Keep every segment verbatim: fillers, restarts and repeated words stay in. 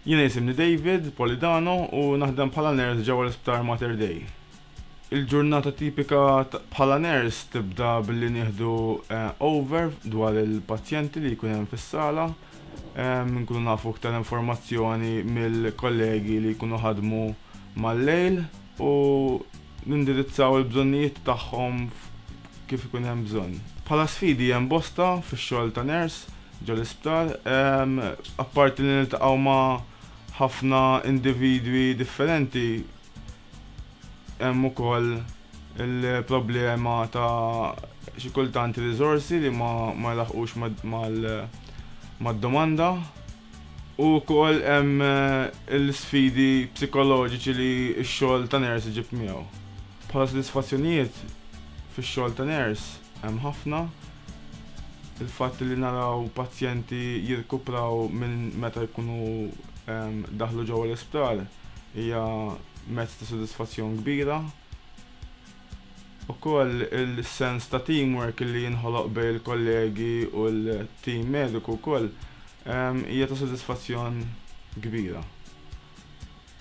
Jiena jisimni David Polidano u naħdem bħala nurse ġewwa l-Isptar Mater Dei. Il-ġurnata tipika bħala nurse tibda billi nieħdu eh, over dwar il-pazjenti li jkun hemm fis-sala. Nkunu nafu iktar informazzjoni mill-kollegi li jkunu ħadmu mal-lejl u nindirizzaw il-bżonnijiet tagħhom kif ikun hemm bżonn. Bħala sfidi hemm bosta fix-xogħol ta' nurse ġo l-isptar, apparti li niltaqgħu ma' ħafna individwi differenti, hemm ukoll il-problema ta' xi kultant riżorsi li ma ma jlaħqux mad-domanda u wkoll hemm l-sfidi psikoloġiċi li x-xogħol ta' nurse iġib miegħu. Bħala sodisfazzjonijiet fix-xogħol ta' nurse hemm ħafna. Il-fatt li naraw pazjenti jirkupraw minn meta jkunu daħlu ġewwa l-isptar hija mezz ta' sodisfazzjon kbira. Ukoll il-sens ta' teamwork li jinħoloq bejn il-kollegi u l-team mediku wkoll hija ta' sodisfazzjon kbira.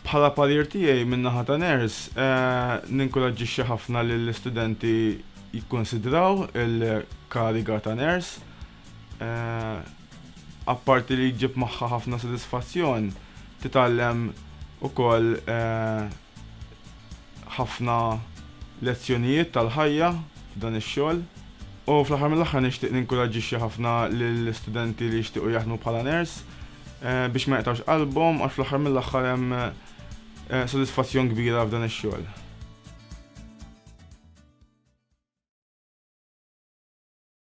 Bħala parir tiegħi min-naħa ta' nurse, ninkoraġġixxi ħafna lill-istudenti jikkonsidraw il-kariga ta' nurse. Apparti li jġib magħha ħafna sodisfazzjon, titgħallem ukoll ħafna lezzjonijiet tal-ħajja f'dan ix-xogħol. U fl-aħħar mill-aħħar nixtieq ninkoraġġixxi ħafna lill-istudenti li jixtiequ jaħdmu bħala nurse biex ma jaqtgħux qalbhom, għax fl-aħħar mill-aħħar hemm sodisfazzjon kbira f'dan ix-xogħol.